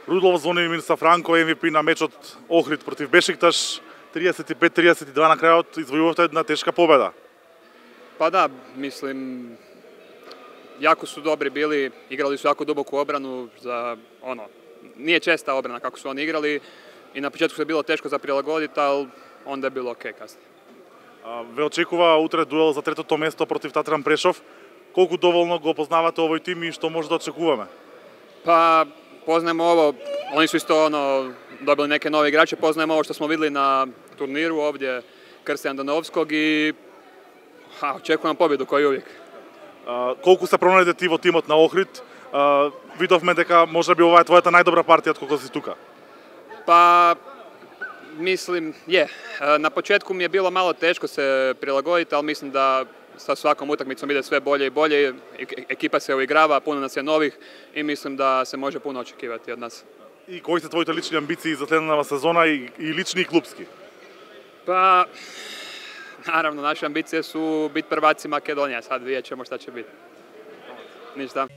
Рудлов звони Мирса Франко, MVP на мечот Охрид против Бешикташ, 35-32 на крајот, извојувавте една тешка победа. Pa da, mislim, jako su dobri bili, igrali su jako duboku obranu, nije česta obrana kako su oni igrali i na početku se je bilo teško za prilagoditi, ali onda je bilo okej kasnije. Ве очекува утре дуел за третото место против Татран Прешов. Колку доволно го познавате овој тим и што може да очекуваме? Pa poznajemo ovo, oni su isto dobili neke nove igrače, poznajemo ovo što smo videli na turniru ovdje Krste Andanovskog i očekujemo pobjedu kao i uvijek. Колку се пронајде ти во тимот на Охрид? Видовме дека можеби ова е твојата најдобра партија откако си тука. Pa mislim, na početku mi je bilo malo teško se prilagoditi, ali mislim da sa svakom utakmicom ide sve bolje i bolje, ekipa se uigrava, puno nas je novih i mislim da se može puno očekivati od nas. И кои се твоите лични амбиции за следната сезона и лични и клубски? Pa, naravno, naše ambicije su biti prvaci Makedonija, sad vidjet ćemo šta će biti. Ništa.